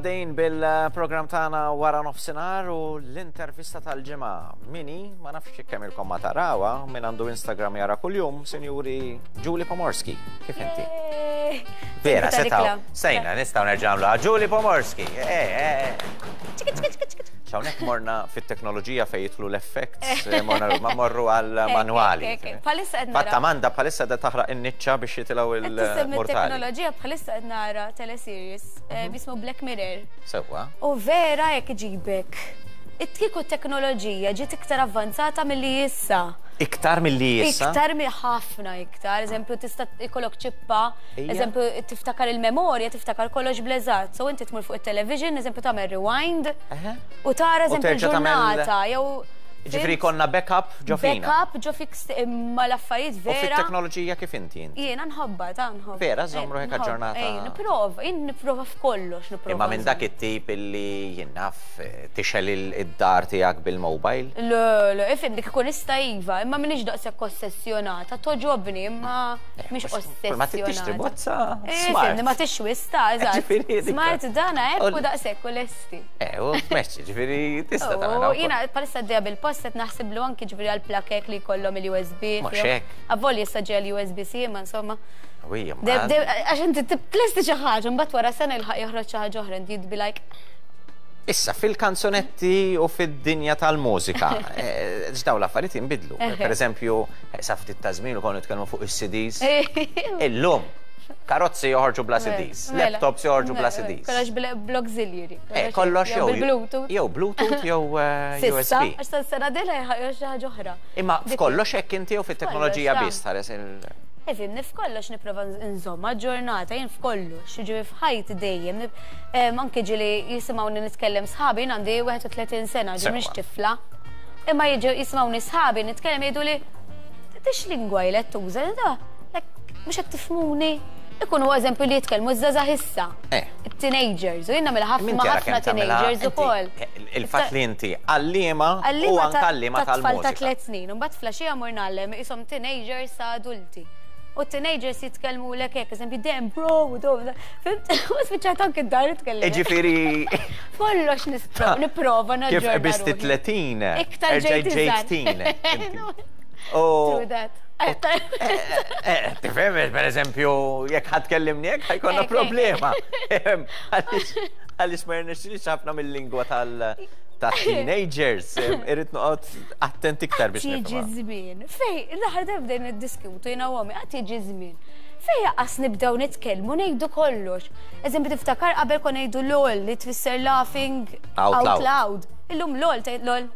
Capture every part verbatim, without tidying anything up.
Dejn bil-program tagħna wara nofsinhar u l-intervista tal-ġimgħa. Mini, ma nafx kemm ilkom ma tarawha, min għandu Instagram jara kuljum, Sinjuri Julie Pomorski. Kif inti? Vera, setaw. Sejna, nistgħu nerġa' nagħmluha. Julie Pomorski. Eh, eh, eh. Hawnhekk morna fit-teknoloġija fejn jidħlu l-effects, morna ma morru għal manwali. Bħalissa qed Fatta Amanda bħalissa da taħraq in-niċċa biex jitilgħu il-mortali. Teknoloġija, bħalissa qed nara teleseries eh, jismu Black Mirror. Sewwa. U vera jekk iġibek. Kieku teknoloġija ġiet iktar avvanzata milli issa. Iktar milli issa? Iktar mi ħafna iktar. Eżempju, tista' ikollok ċippa, eżempju, tiftakar il-memorja, tiftakar kollox bl-eżatt. So inti tmur fuq it-television, eżempju, tagħmel rewind u tara, eżempju, ġurnata jew Ġifieri konna backup ġo fina. Backup ġo fik, imma l-affarijiet U vera. fit-teknoloġija kif inti inti? Jiena nħobba, ta' nħobba. Vera, żomm ruħek aġġornata. Ej, nipprova, jien nipprova f'kollox, nipprova. Imma minn dak it-tip illi jien naf tixgħel id-dar tiegħek bil-mobile? Le, le, ifhem, dik ikun ista iva, imma minix daqshekk ossessjonata, togħġobni, imma mhix ossessjonata. Ma tixtri bozza smart. Ma tixwis ta' eżatt. Smart dana hekk u daqshekk u lesti. Eh, u tmexxi, ġifieri tista' tagħmel. Jiena bħalissa għaddejja bil-post qed naħsiblu anki ġifieri għal-plakek li jkollhom il-U S B. Mhux hekk. Avolja issa ġej l-U S B-C, ma insomma. Għax inti tlesti xi ħaġa, mbagħad wara sena ilħaq joħroġ xi ħaġa oħra, and you'd be like. Issa, fil-kanzonetti u fid-dinja tal-mużika, x'daw l-affarijiet jinbidlu. Per eżempju, sa ftit ta' żmien u konna nitkellmu fuq is-C Ds. Illum, karozzi joħorġu bla C Ds, Mela. laptops joħorġu bla C Ds. Kollox bl-auxiliary. Eh, kollox jew bil-Bluetooth. Jew Bluetooth jew eh, S'issa, U S B. għax tas-sena dila xi ħaġa oħra. Imma f'kollox hekk inti jew fit-teknoloġija F'kollox, biss tħares il- Ifhimni, f'kollox nipprova nżomm ġurnata, jien f'kollox, ġifieri f'ħajti dejjem. nib- em, Anke ġieli jisimgħuni nitkellem sħabi, jien għandi wieħed u tletin sena, ġi mhix Sewwa. tifla. Imma jiġu jisimgħuni sħabi nitkellem, jgħidu li tix lingwa jlet tuża, da, like, mhux qed tifhmuni. Ikunu eżempju li jitkellmu żgħażagħ issa. Eh. Teenagers, u jien nagħmel ħafna Min tara ħafna kemm tagħmilha teenagers inti? ukoll. Il-fatt li inti għalliema u Għallima anke għalliema ta' tfal ta' tal-mużika. tliet snin, u mbagħad filgħaxija mur ngħallem isom teenagers sa' adulti. U teenagers jitkellmu lek hekk, eżempju, "Damn bro," u do, fhimt? U spiċċat anke d-dar nitkellem. Ġifieri Kollox nispro- nipprova kif naġġorna qbiżti ruħi. tletin, Iktar erġajt ġejt ġejt iżgħar. teen. Inti. U True that. Eh, tifhem, per eżempju, jekk ħadd kellimni hekk ħa jkollna Ek, ek. problema. Għaliex għaliex ma jirnexxilix ħafna mill-lingwa tal ta' teenagers, em, irrid noqgħod attent iktar biex Tiġi nifhimha. żmien. Fej, l-aħħar darba bdejna niddiskutu jiena u ommi, għad tiġi żmien. Fej qas nibdew nitkellmu ngħidu kollox. Eżempju, tiftakar qabel kon ngħidu LOL li tfisser laughing out out loud. Loud. Illum LOL tgħid LOL.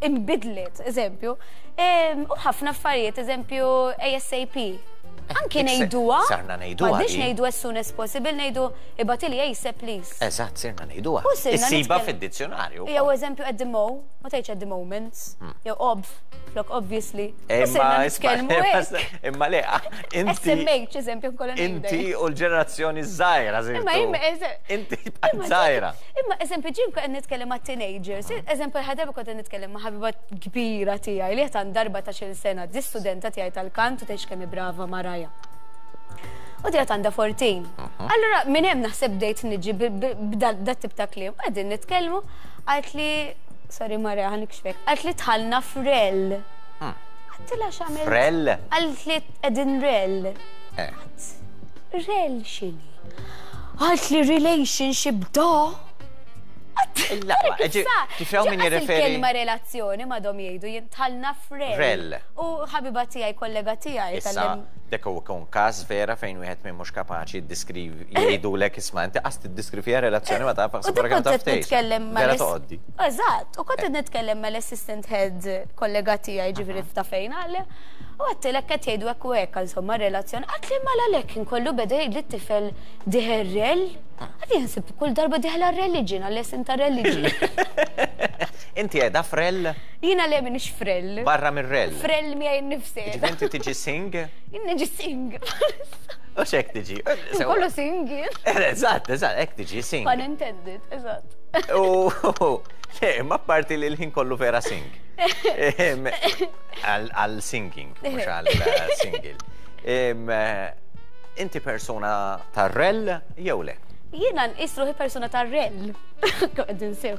Imbidlet, eżempju. Em, U ħafna affarijiet, eżempju, A S A P. Anki dik se- ngħiduha. Sarna ngħiduha M'għadniex di. ngħidu as soon as possible, ngħidu ibgħatili ASAP, please. Eżatt, sirna ngħiduha. U sirna Issiba nitkellem- fid-dizzjonarju. Jew eżempju at the mo, ma tgħidx at the moment, jew obv, flok obviously. U Imma sirna isma' nitkellmu hekk. imma le, inti S M H eżempju nkollha inti ngħidha. u l-ġenerazzjoni żgħira Imma imma eżempju. Inti bqajt żgħira. Imma eżempju ġim qed nitkellem ma' teenagers, eżempju ħadarba kont qed nitkellem ma' ħabiba kbira tiegħi li qed għandha erbatax-il sena, di studenta tiegħi tal-kant u tgħix kemm hi brava Maraja. U di għandha erbatax. Allura minn hemm naħseb bdejt niġi b'dat tip ta' kliem. Qegħdin nitkellmu, għalt li, sorry Maraja, ħa nikxfek, għalt li dħalna f'rel. Għedtilha x'għamilt? Frel? Għalt li qegħdin rel. Eh. Rel x'inhi? Għalt li relationship da. Il-laqwa, ġi- kif hawn min jirreferi- Il-kelma relazzjoni madhom jgħidu, jien dħalna f'rel. Rel. U ħabiba tiegħi, kollega tiegħi Issa, tal-lem. Dek huwa kun każ vera fejn wieħed minn mhux kapaċi jiddeskrivi, jgħidulek, "Isma' inti qas tiddeskrivija relazzjoni ma taf U wara dik kemm kont taf qed tgħix." nitkellem ma' Vera l- toqgħoddi. Eżatt, u kont qed nitkellem mal-assistant head kollega tiegħi, ġifieri ta' fejn għalli. U għedtilha qed jgħidu hekk u hekk, insomma relazzjoni. Għalt li mala lek inkollu beda jgħid li t-tifel dieħel rel. Għad jinsib kull darba dieħel religion, għal-lesson ta' religion. Inti qiegħda frel? Jiena le, minix frel. Barra mir-rel. Frel miegħi nnifsi. Ġifieri inti tiġi sing? Jien niġi sing. U x'hekk tiġi? Kollu sing jien. Eżatt, eżatt, hekk tiġi sing. Pun intended, eżatt. U le, ma parti li l-ħin kollu vera sing. Em, Għal għal singing, mhux għal single. Em, eh, Inti persona ta' rel jew le? Jiena nqis ruħi persuna ta' rel. Qegħdin sew.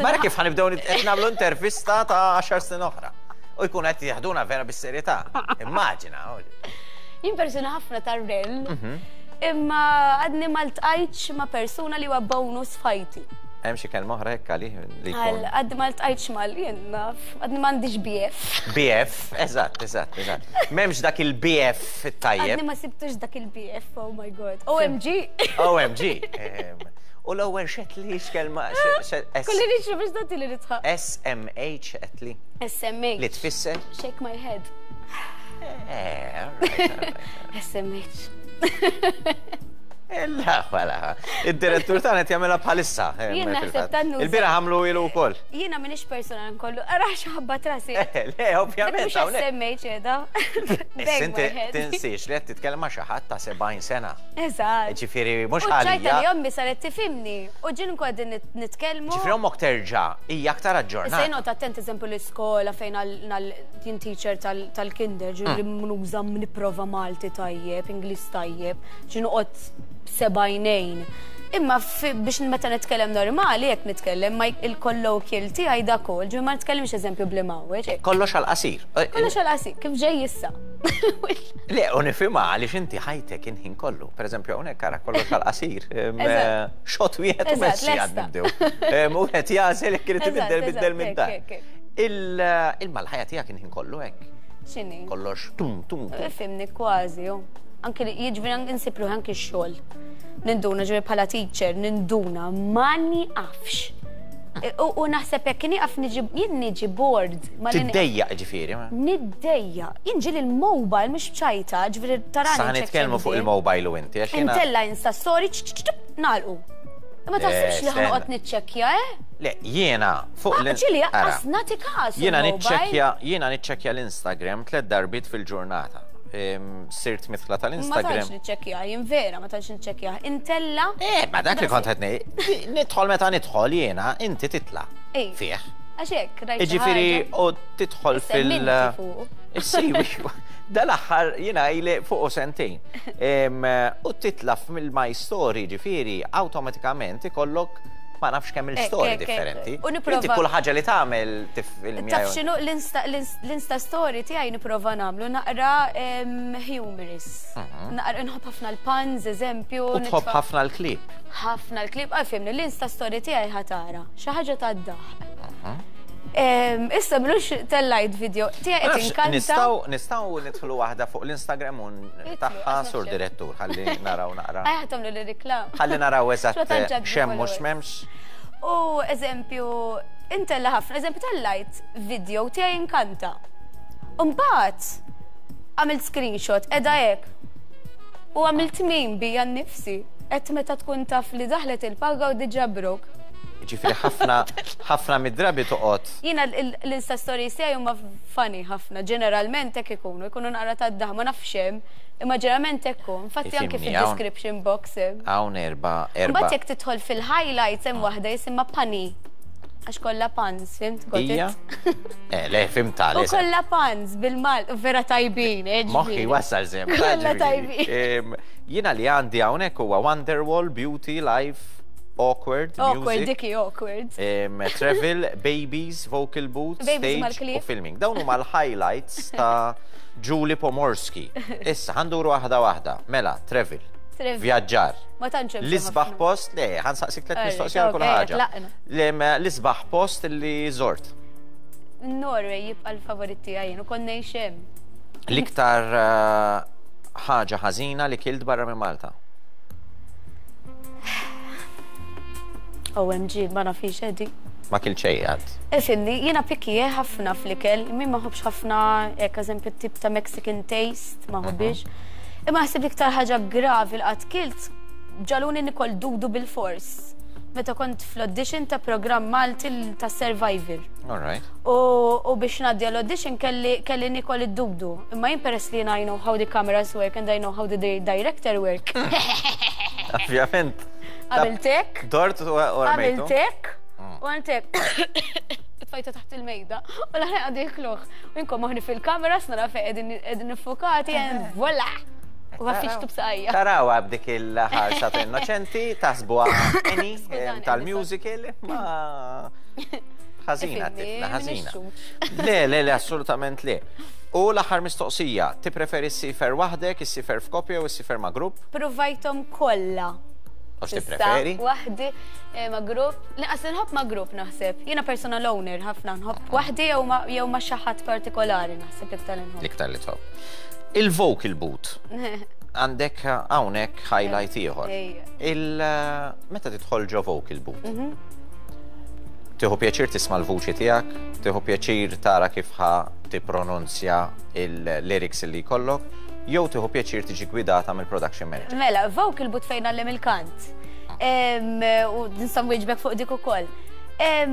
Mara kif ħa nibdew nagħmlu intervista ta' għaxar snin oħra. U jkun qed jaħduna vera bis-serjetà. Immaġina. Jien persuna ħafna ta' rel. Imma għadni ma ltqajtx ma' persuna li huwa bonus f'ħajti. Hemm xi kelma oħra hekk għalih li jkun. Għadni ma ltqajtx mal jien naf, għadni m'għandix B F. B F, eżatt, eżatt, eżatt. M'hemmx dak il-B F it-tajjeb. Għadni ma sibtux dak il-B F, oh my God. O M G. O M G. U l-ewwel xed li x'kelma, Kulli nixtru biex dati li nitħaq. S M H qed li. S M H. Li tfisser? Shake my head. Eh, all right, all right. S M H. Illa, wala. Id-direttur tagħna qed jagħmilha bħalissa. Jien naħseb tannu. Il-bieraħ għamlu ilu wkoll. Jiena m'iniex persuna nkollu, ara x'ħabba trasi. Le, ovvjament. Mhux S M H qiegħda. Inti tinsiex li qed titkellem ma' xi ħadd ta' sebgħin sena. Eżatt. Ġifieri mhux għalija. U ċajta li ommi saret tifhimni. U ġien nkun qegħdin nitkellmu. Ġifieri ommok terġa' hija aktar aġġornata. Issa jien attent eżempju l-iskola fejn jien teacher tal-kinder, ġifieri nuża nipprova Malti tajjeb, Ingliż tajjeb, ġie noqgħod sebgħinejn. Imma biex meta nitkellem normali, jekk nitkellem ma il-colloquial tiegħi da kol, ġifieri ma nitkellimx eżempju bl-imgħawweġ. Kollox għall-qasir. Kollox għall-qasir, kif ġej issa. Le, u nifhimha għaliex inti ħajtek inħin kollu. Pereżempju hawnhekk ara kollox għall-qasir. Xot wieħed u messi għad nibdew. U qed jagħżel jekk irid ibiddel biddel minn dan. Il-malħajja tiegħek inħin kollu hekk. X'inhi? Kollox tum tum. Fimni kważi, jo. Anki li jiġifieri insib ruħi anki x-xogħol. Ninduna ġifieri bħala teacher, ninduna ma nieqafx. U naħseb jekk nieqaf niġi, jien niġi bored. Tiddejjaq ġifieri? Niddejjaq. Jien ġieli l-mobile mhux bċajta, ġifieri tarani. Sa nitkellmu fuq il-mobile u inti għax jiena. Intella Insta story, nagħlqu. Ma taħsibx li ħanoqgħod niċċekkja, eh? Le, jiena fuq l Ġieli aqas nagħti każ. Jiena niċċekkja, jiena niċċekkja l-Instagram tliet darbiet fil-ġurnata. Sirt mitla tal-Instagram. Ma tantx niċċekkja, jien vera ma tantx niċċekkja. Intella. Eh, ma dak li kont qed ngħid, nidħol meta nidħol jiena, inti titla'. Fih. Għax hekk, rajt. Jiġifieri u tidħol fil- Issiwi. Dal-aħħar jiena ili fuq sentejn. U titla' mill-My Story, ġifieri awtomatikament ikollok ma nafx kemm il-story differenti. U nipprova. Inti kull ħaġa li tagħmel tifilmja. Taf x'inhu l-Insta story tiegħi nipprova nagħmlu naqra humorous. Naqra nħobb ħafna l-puns, eżempju. U tħobb ħafna l-klip. Ħafna l-klip, għal fimni l-Insta story tiegħi ħatara. Xi ħaġa tad-daħq. Issa mlux tellajt video tiegħi qed inkanta. Nistgħu nistgħu nidħlu waħda fuq l-Instagram u tagħha sur direttur ħalli naraw naqra. Ejja tagħmlu l-reklam. Ħalli naraw eżatt x'hemm mhux m'hemmx. U eżempju, intella ħafna, eżempju tellajt video tiegħi inkanta. U mbagħad għamilt screenshot qiegħda hekk. U għamilt meme bija nnifsi. Qed meta tkun taf li daħlet il-paga u diġà brok. Ġifieri ħafna ħafna mid-drabi toqgħod. Jiena l-Insta stories tiegħi huma funny ħafna, ġeneralment hekk ikunu, ikunu naqra tad-daħ, ma nafx hemm, imma ġeneralment hekk hu. Infatti anke fid-description box hemm. Hawn erba' erba'. Mbagħad jekk tidħol fil-highlights hemm waħda jisimha Punny. Għax kollha puns, fimt? Ija? Eh, le, fimta. U kollha puns bil-Mal, vera tajbin, eh, Moħħi wasal żemm. Kollha tajbin. Jiena li għandi hawnhekk huwa Wonderwall, Beauty, Life, Awkward, Awkward, diki awkward. Travel, babies, vocal booth, stage u filming. Dawn huma l-highlights ta' Julie Pomorski. Issa, ħanduru waħda waħda. Mela, travel. Vjaġġar. Ma tantx hemm. L-isbaħ post, le, ħansaqsik tliet mistoqsija kull ħaġa. L-isbaħ post li żort. Norway jibqa' l-favorit tiegħi jien u kont ngħix hemm. L-iktar ħaġa ħażina li kilt barra minn Malta. O M G, ma nafix edi. Ma kilt xejn għad. Ifimni, jiena picky ħafna fl-ikel, min ma ħobbx ħafna hekk eżempju tip ta' Mexican taste, ma ħobbix. Imma ħsib iktar ħaġa gravi li qatt kilt ġaluni nikol dudu bil-fors. Meta kont fl-audition ta' programm Malti ta' Survivor. All right. U biex ngħaddi l-audition kelli nikol id-dudu. Imma jien peress li I know how the cameras work and I know how the director work. Ovvjament. Għamiltek. Dort u għamiltu. Għamiltek. U għamiltek. Tfajta taħt il-mejda. U l-ħin għaddi jikluħ. U jinkom maħni fil-kamera, s-nara fej qegħdin niffokati, and voila! U għaffiċtu b'saqajja. Tarawha b'dik il-ħarsa ta' innoċenti, taħsbuha Annie tal-musical, ma ħażina tifla, ħażina. Le, le, le, assolutament le. U l-aħħar mistoqsija, tippreferi ssifer waħdek, issifer f'koppja u issifer ma' grupp? Provajthom kollha. U x'tippreferi? Waħdi ma' grupp. Lanqas nħobb ma' grupp naħseb. Jiena personal owner ħafna nħobb waħdi jew ma' xi ħadd partikolari naħseb l-iktar li nħobb. L-iktar li tħobb. Il-vocal booth. Għandek hawnhekk highlight ieħor. Meta tidħol ġo vocal booth? Tieħu pjaċir tisma' l-vuċi tiegħek, tieħu pjaċir tara kif ħa tippronunzja il-lyrics li jkollok, jew tieħu pjaċir tiġi gwidata mill-production manager. Mela, vocal booth fejn għallem il-kant. U nista' nwieġbek fuq dik ukoll.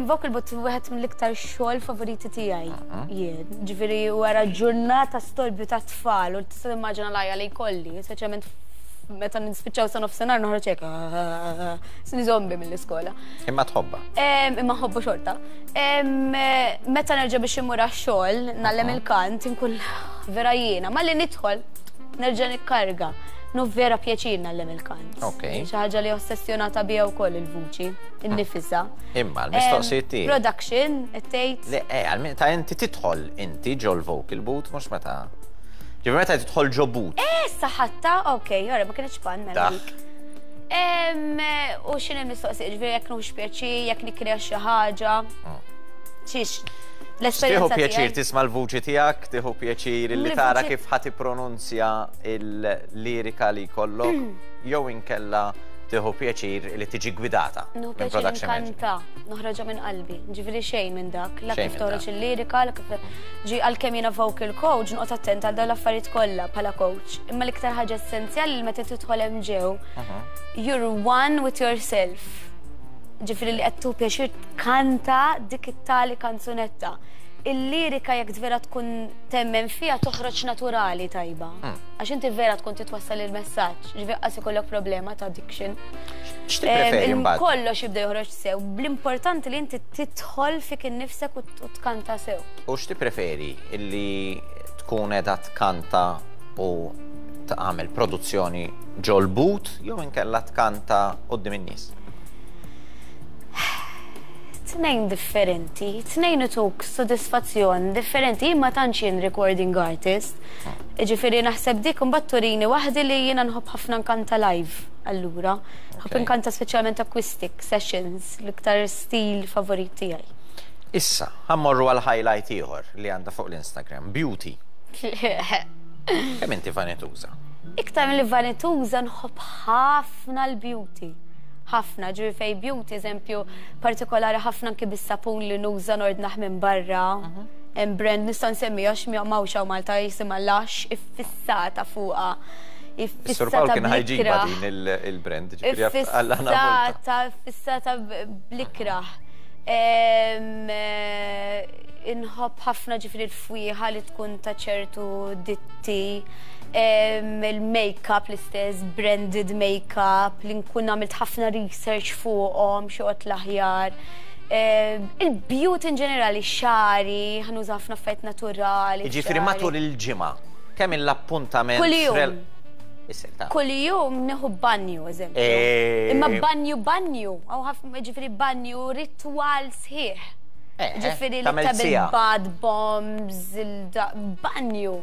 Vocal booth wieħed mill-iktar xogħol favoriti tiegħi. Jien, ġifieri wara ġurnata storbju ta' tfal u tista' timmaġina l-għajja li jkolli, speċjalment meta nispiċċaw sa nofsinhar noħroġ hekk, sni zombi mill-iskola. Imma tħobba. Imma ħobbu xorta. Meta nerġa' biex immur għax-xogħol, nagħllem il-kant, inkun vera jiena, malli nidħol nerġa' nikkarga. Nu vera pjaċir nagħllem il-kant. Xi ħaġa li ossessjonata biha wkoll il-vuċi, innifisha. Imma l-mistoqsijiet tiegħi. Production, qed tgħid. Le, eh, ta' inti tidħol inti ġol vocal booth mhux meta. Ġifieri meta tidħol ġo booth. Eh, saħatta, ok, ora ma kienx pan mela dik. U x'inhi l-mistoqsija, ġifieri jekk nux pjaċir, jekk nikkrea xi ħaġa. Xiex, l-esperjenza. Tieħu pjaċir tisma' l-vuċi tiegħek, tieħu pjaċir li tara kif ħa tippronunzja il-lirika li jkollok, jew inkella tieħu pjaċir li tiġi gwidata. Nieħu pjaċir nkanta, noħroġha minn qalbi, ġifieri xejn minn dak, la kif toħroġ il-lirika, la kif ġi għalkemm jiena vocal coach, noqgħod attent għal dawn l-affarijiet kollha bħala coach. Imma l-iktar ħaġa essenzjali li meta tidħol hemm ġew, you're one with yourself. Ġifieri li qed tieħu pjaċir tkanta dik it-tali kanzunetta. Il-lirika jekk vera tkun temmen fiha toħroġ naturali tajba. Għax inti vera tkun titwassal il-messaġġ, ġifieri qas ikollok problema ta' addiction. X'tippreferi mbagħad? Kollox jibda joħroġ sew. L-importanti li inti tidħol fik innifsek u tkanta sew. U x'tippreferi illi tkun qiegħda tkanta u tagħmel produzzjoni ġol boot jew inkella tkanta quddiem in-nies? Tnejn differenti, tnejn ituk sodisfazzjon differenti, jien ma tantx jien recording artist. Ġifieri naħseb dik imbagħad turini waħdi li jiena nħobb ħafna nkanta live allura. Nħobb nkanta speċjalment acoustic sessions, l-iktar stil favorit tiegħi. Issa, ħa mmorru għal highlight ieħor li għandha fuq l-Instagram, beauty. Kemm inti vanituża? Iktar mill vanituża nħobb ħafna l-beauty. Ħafna, ġifieri fej beauty, eżempju, partikolari ħafna anki bis-sapun li nuża nordnaħ minn barra. Hemm brand nista' nsemmi għax m'hawnx hawn Malta jisimha Lush, iffissata fuqha. Is-Sur Pawl kien ħajġiba din il-brand, ġifieri Iffissata, iffissata bl-ikrah. Inħobb ħafna ġifieri l-fwieħa li tkun ta' ċertu ditti, il-make-up l-istess, branded make-up, li nkun għamilt ħafna research fuqhom, xi l-aħjar. Il-beauty in ġenerali, xagħri, ħa nuża ħafna affarijiet naturali. Ġifieri matul il-ġimgħa, kemm l-appuntament? Kuljum. Kuljum nieħu banju, eżempju. Imma banju banju, għaw ħafna ġifieri banju ritwal sħiħ. Ġifieri li ta' bil-bath bombs, il-banju.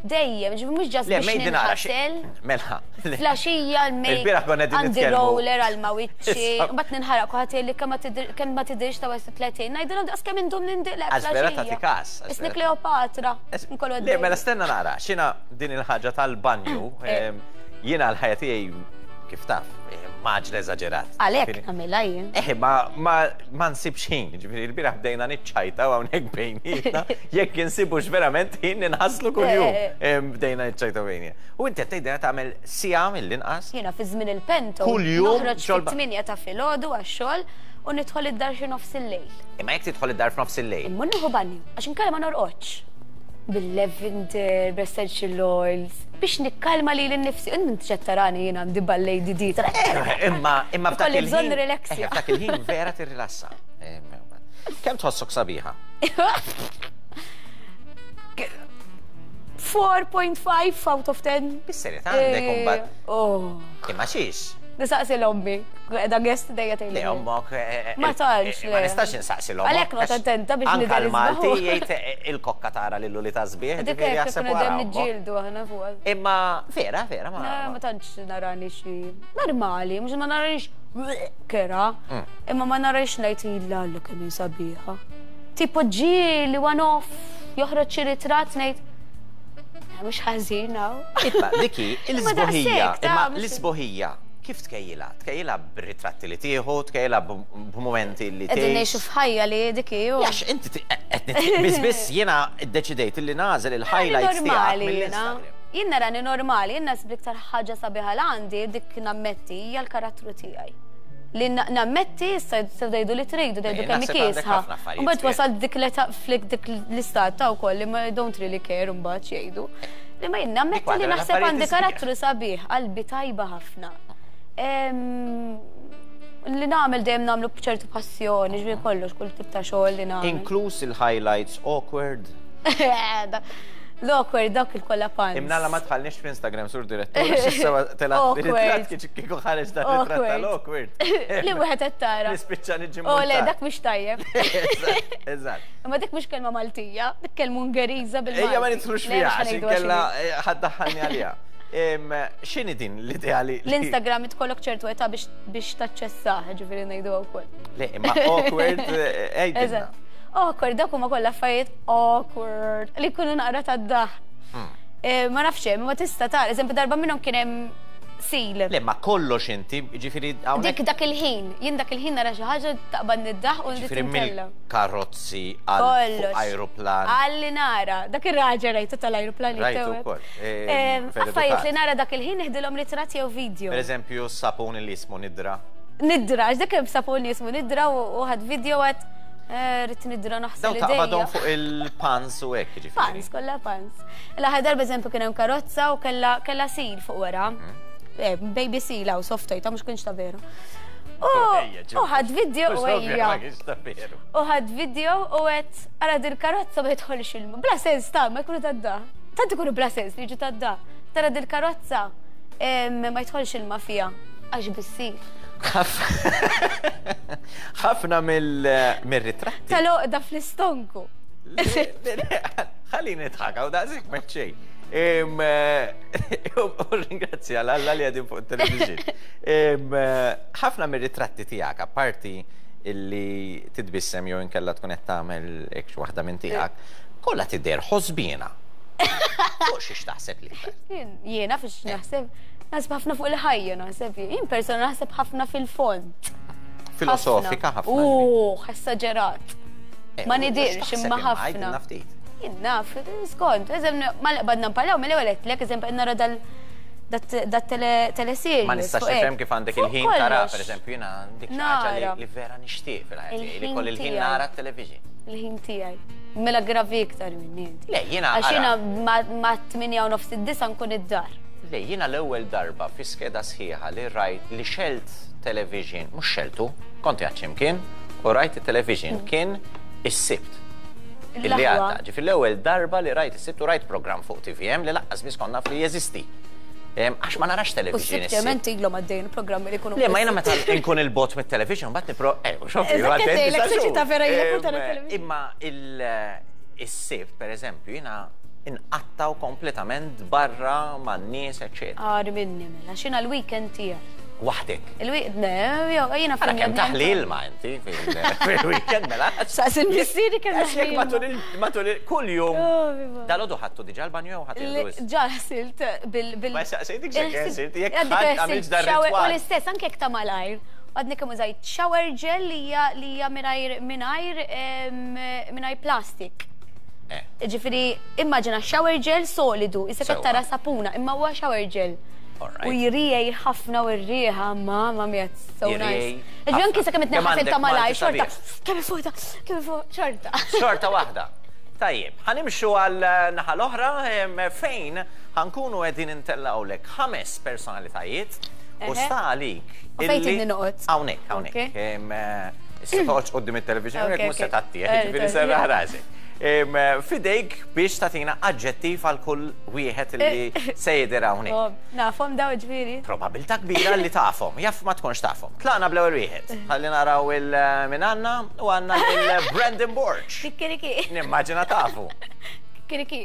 Dejjem, ġifieri mhux just biex ninħasel. Mela. Filgħaxija l-make għandi roller għal ma' wiċċi. Mbagħad ninħaraq kulħadd jgħidli kemm ma tidhirx ta' tletin. Ngħidilhom daqs kemm indum nindilek. Għax vera tagħti każ. Isni Kleopatra. Le, mela stenna nara, x'inha din il-ħaġa tal-banju, jiena l-ħajja tiegħi kif taf, maġla eżaġerat. Għalhekk nagħmilha jien. Eh, ma nsibx ħin, ġifieri l-bieraħ bdejna niċċajta hawnhekk bejnietna, jekk insibux verament ħin ninħaslu kuljum. Bdejna niċċajta bejnietna. U inti qed tgħidilna tagħmel siegħa mill-inqas? Jiena fi żmien il-pento. Kuljum noħroġ fit-tmienja ta' filgħodu għax-xogħol u nidħol id-dar xi nofs il-lejl. Imma jekk tidħol id-dar f'nofs il-lejl? Immur nieħu banju, għax inkella ma norqodx. Bil-lavender, bl-essential oils, biex nikkalma li l-nifsi. Inti ċed tarani jiena għandi ballet di. Imma imma f'dak il-ħin. Bżonn relaxja. F'dak il-ħin vera tirrilassa. Kemm tħossok sabiħa? four point five out of ten. Bis-serjetà għandek imbagħad. Oh. Imma xiex? Nisaqsi l-ommi. Qiegħda guest dejja tgħidli. Le ommok. Ma tantx. Ma nistax insaqsi l-ommok. Għalhekk noqgħod attenta biex nidher. Anke l-Malti jgħid il-kokka tara lillu li ta' sbieħ. Dik hekk dejjem niġġieldu aħna fuq. Imma vera, vera ma. Ma tantx narani xi normali, mhux ma naranix kera. Imma ma narix ngħid illa Alla kemm hi sabiħa. Tipo ġieli one off joħroġ xi ritratt ngħid mhux ħażin hawn. Imma diki l-isbuħija, imma l-isbuħija kif tkejjilha? Tkejjilha b'ritratti li tieħu, tkejjilha b'mumenti li tieħu. Qegħdin ngħixu f'ħajja li dik hi. Għax inti qed biss jiena ddeċidejt li nagħżel il-highlights tiegħek mill-Instagram. Jien narani normali, jien nasib l-iktar ħaġa sabiħa l għandi dik nammetti hija l-karattru tiegħi. Li nammetti issa jgħidu li tridu, jgħidu kemm kiesħa. Mbagħad wasalt dik l-età flik dik l-istat ta' wkoll li ma don't really care mbagħad jgħidu. Li ma jien nammetti li naħseb għandi karattru sabiħ, qalbi tajba ħafna. Li nagħmel dejjem nagħmlu b'ċertu passjoni, ġifieri kollox, kull tip ta' xogħol li nagħmel. Inkluż il-highlights awkward. L-awkward dak il-kollha pants. Imnalla ma tħallniex fl-Instagram sur direttur, x'issa telgħat ritratt kieku ħareġ dan ritratt tal-awkward. Li wieħed qed tara. Nispiċċa niġi. Oh le, dak mhux tajjeb. Eżatt. Imma dik mhux kelma Maltija, dik kelma Ungeriża bil-Malti. Ejja ma nidħlux fiha għax inkella ħadd daħħalni għaliha. X'inhi din l-idea li l-Instagram tkollok ċertu età biex taċċessah, ġifieri ngħidu wkoll. Le, imma awkward għidilna. Awkward, dak huma kollha affarijiet awkward li jkunu naqra tad-daħ. Ma nafx hemm, ma tista' tara, eżempju darba minnhom kien hemm seal. Le, ma kollox inti, ġifieri hawnhekk. Dik dak il-ħin, jien dak il-ħin nara xi ħaġa taqbad niddaħ u Ġifieri mill-karozzi għal ajruplan. Għalli nara, dak ir-raġel rajtu tal-ajruplan. Rajtu wkoll. Affarijiet li nara dak il-ħin nieħdilhom ritratt jew video. Per eżempju, sapun li jismu Nidra. Nidra, għax dak hemm sapun li jismu Nidra u ħadd video għad rrid nidra naħseb li dejja. Daw taqbadhom fuq il-pans u hekk ġifieri. Pans, kollha pans. L-aħħar darba eżempju kien hemm karozza u kellha kellha seal fuq wara. Baby seal hawn soft toy, ta' mhux kienx ta' veru. U ħadd video u ejja. U ħadd video u qed ara dil karozza ma jidħolx ilma. Bla sens ta' ma jkunu tadda. Tant ikunu bla sens li jiġu tadda. Tara dil karozza ma jidħolx ilma fiha għax bis-seal. Ħafna mill-ritratti. Tal-oqda fl-istonku. Ħalli nidħak, hawn daqshekk ma xejn. U ringrazzja l-Alla li għadin fuq il-television. Ħafna mir-ritratti tiegħek, apparti illi titbissem jew inkella tkun qed tagħmel hekk waħda minn tiegħek, kollha tidher ħosbina. Fuq xiex taħseb l-iktar? Jiena fiex naħseb, naħseb ħafna fuq il-ħajja naħseb. Jien persona naħseb ħafna fil-fond. Filosofika ħafna. Uh, esaġerat. Ma nidirx imma ħafna. Jien naf, skont, eżem, ma qbadna nparlaw, mill-ewwel għedtlek, eżempju, nara dal dat teleseries. Ma nistax nifhem kif għandek il-ħin tara, pereżempju, jiena dik xi ħaġa li vera nixtieq fil-ħajja tiegħi, li kolli l-ħin nara t-television. Il-ħin tiegħi. Mela gravi iktar minni inti. Le, jiena. Għax jiena ma' tmienja u nofs id-disa nkun id-dar. Le, jiena l-ewwel darba fi skeda sħiħa li rajt li xelt television, mhux xeltu, kont qiegħed x'imkien, u rajt it-television kien is-Sibt. Illi għadda, ġifieri l-ewwel darba li rajt is-Sibt u rajt programm fuq T V M li laqqas biss konna naf li jeżisti. Għax ma narax television. U s-sibt ilhom għaddejn programmi li jkunu. Le, ma jiena meta nkun il-bot mit-television mbagħad nipro. Eh, xoffi, imma is-Sibt, pereżempju, jiena inqattaw kompletament barra man-nies, eċċetera. Għar minni mela, x'inha l-weekend tiegħi. Waħdek. Il-weekend, ne, jiena fil kemm taħli ilma inti fil-weekend mela. Saqs il-missieri kemm taħli. Matul kull jum. Dalodu ħadtu diġà l-banju jew ħadd Ġa ħsilt bil bil. Ma saqsejtik x'hekk ħsilt, jekk ħadd għamilx dar U l-istess anke jekk ta' malajr. Għadni kemm użajt shower gel li hija li hija mingħajr mingħajr mingħajr plastik. Ġifieri immaġina shower gel solidu, issa qed tara sapuna, imma huwa shower gel. U jriej ħafna u r-rieħa, mamma mia, so nice. Ġifieri anke sakemm itneħħasel ta' malaj, xorta, kemm fuqta, kemm fuq, xorta. Xorta waħda. Tajjeb, ħanimxu għal naħa l-oħra fejn ħankunu qegħdin intellgħulek ħames personalitajiet u sta għalik. Fejn inni noqgħod? Hawnhekk, hawnhekk. Issa toqgħodx quddiem it-television jekk mhux se tgħattih, ġifieri serraħ rasek. F'idejk biex tagħtina aġġettiv għal kull wieħed li se jidher hawnhekk. Oh, nafhom daw ġifieri. Probabilità kbira li tafhom, jaf ma tkunx tafhom. Tlaqna bl-ewwel wieħed. Ħalli naraw il-min għandna u għandna lil Brandon Borg. Kikiriki. Nimmaġina tafu. Kikiriki.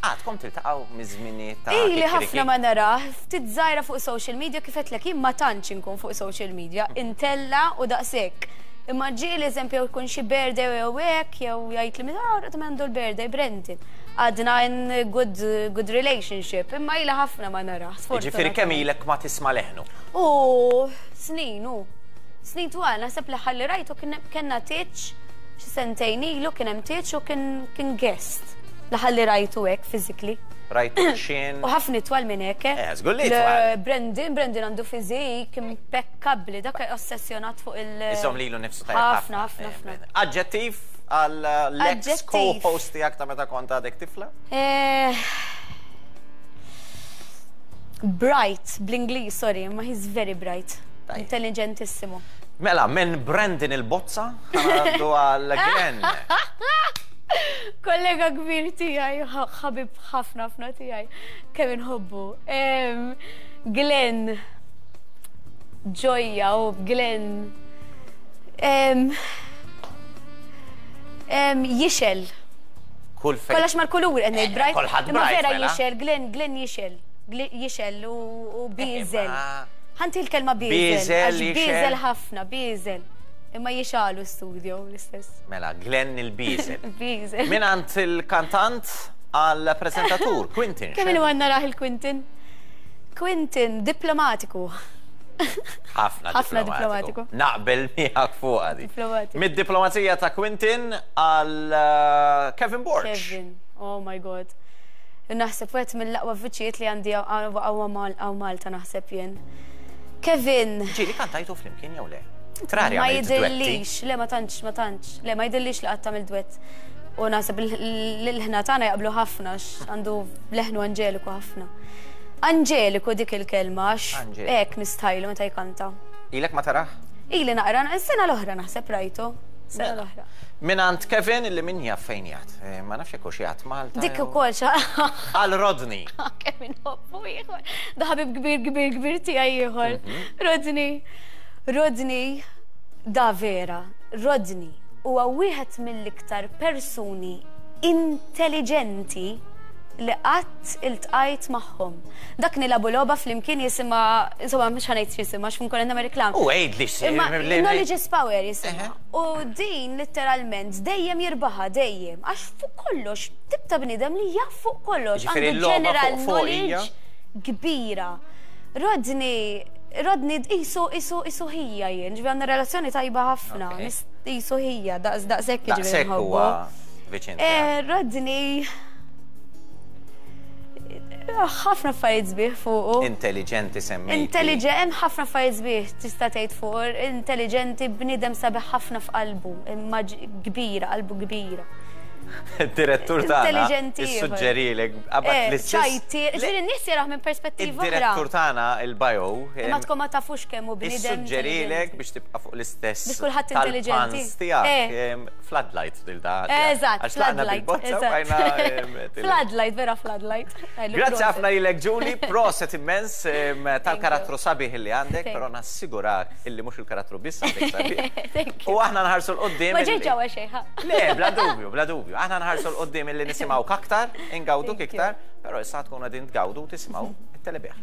Għadkom tiltaqgħu miż-żmini ta' Ili Kikiriki? ħafna ma nara, ftit żgħira fuq social media, kif għedtlek jien ma tantx inkun fuq social media, intella u daqshekk. Imma ġieli eżempju jkun xi birthday jew hekk jew jgħid li minn ah għandu l-birthday Brandon. Għadna in good, good relationship, imma ila ħafna ma nara. Ġifieri kemm ilek ma tisma' leħnu? U snin, u. Snin twal, naħseb li ħalli rajtu kien- kellna tieġ, xi sentejn ilu kien hemm tieġ u kien kien guest. Li rajtu hekk physically. Rajtu xin. U ħafna twal minn hekk. Eh, żgur li Le- twal. Brandon, Brandon għandu fizik impeccabli, dak ossessjonat fuq il- Iżomm lilu nifsu tajjeb. Ħafna, ħafna, Eh, ħafna. Aġġettiv għal l-ex Aġġettiv. co-host tiegħek ta' meta kont għadek tifla? Eh, Bright, bl-Ingliż, sorry, ma he's very bright. Tajjeb. Intelligentissimo. Mela, minn Brandon il-Bozza, għaddu għal Glenn. Kollega kbir tiegħi, ħabib ħafna ħafna tiegħi, kemm inħobbu. Em, Glenn, ġojja u Glenn. Em, em, Jixgħel. Kull fejn. Kollox mal-kulur qed ngħid bright. Kulħadd Imma bright, vera mela. Jixgħel, Glenn, Glenn jixgħel. Glenn jixgħel u u bieżel. Imma- Ħa nti l-kelma bieżel. Bieżel, Għax jixgħel. bieżel ħafna, bieżel. Imma jixgħelu studio l-istess. Mela, Glenn il-Bieżel. Bieżel. Minn għand il-kantant għal prezentatur, Quentin. Kemm ilu għandna raħ il-Quentin? Quentin, diplomatiku. Ħafna Ħafna diplomatiku. diplomatiku. Naqbel miegħek fuq għadi. Diplomatiku. Mid-diplomazija ta' Quentin għal uh, Kevin Borg. Kevin, oh my God. Naħseb wieħed mill-aqwa vuċijiet li għandi hawn Malta naħseb jien. Kevin, Ġieli kantajtu flimkien jew le? Trari ma għamilt duetti. jidillix, le ma tantx, ma tantx, le ma jidillix li qatt tagħmel duett. U naħseb l-ħna tagħna jaqblu ħafna għax għandu leħnu anġeliku ħafna. Anġeliku dik il-kelma għax Anġeliku. hekk nistajlu meta jkanta. Ilek ma taraħ? Ili naqra, s-sena l-oħra naħseb rajtu. Sena Mela. l-oħra. Minn għand Kevin illi min jaf fejn jgħat. Eh, Ma nafx jekk hux jgħat Malta. Dik jew- ukoll xa. Għal Rodney. Kemm inħobbu ieħor. Da ħabib kbir kbir kbir tiegħi ieħor. Rodney. Rodney da vera. Rodney huwa wieħed mill-iktar persuni intelligenti li qatt iltqajt magħhom. Dak nilagħbu logħba flimkien jisimha, insomma mhux ħa ngħid x'jisimha għax nkun nagħmel reklam. U għid li xi. Imma knowledge is power jisimha. Eħe. U din letteralment dejjem jirbaħa dejjem għax fuq kollox tip ta' bniedem li jaf fuq kollox Ġifieri għandu l-logħba general fuq fuq hija? knowledge kbira. Rodney, Rodney isu isu isu ħija jien, ġifieri għandna relazzjoni tajba ħafna, Ok. nis- isu ħija, daqs daqshekk ġifieri Daqshekk nħobbu. huwa viċin. Eh, tiegħek. Rodney ħafna affarijiet sbieħ fuqu. Intelligenti semmejti. Intelligent, hemm ħafna affarijiet sbieħ tista' tgħid fuq, intelligenti, bniedem sabiħ ħafna f'qalbu, imma ġ- kbira, qalbu kbira. Il-direttur tagħna Intelligenti ieħor. issuġġerilek qabad Eh, l-istess. ċajti, ġifieri n-nies jaraw minn perspettiva oħra. Id-direttur tagħna il-bio Imma tkun ma tafux kemm hu bniedem. Issuġġerilek intelligenti. biex tibqa' fuq l-istess. Biex kulħadd intelligenti. tal-pans tiegħek. Eh. em, Floodlight dil da. Eżatt, Għax tlaqna floodlight. bil-bozza u bqajna, em, til- Floodlight, vera floodlight. Grazzi ħafna lilek Julie, proset immens em, tal-karattru sabiħ li għandek, Thank però nassigurak illi mhux il-karattru biss għandek sabiħ. Thank you. U aħna nħarsu 'l quddiem. Ma ġejġ ġewwa xejn, ha. Le, bla dubju, bla dubju. Aħna nħarsu 'l quddiem illi nisimgħu aktar, ingawduk Thank you. iktar, però issa tkun qegħdin tgawdu u tisimgħu it-telebieħ.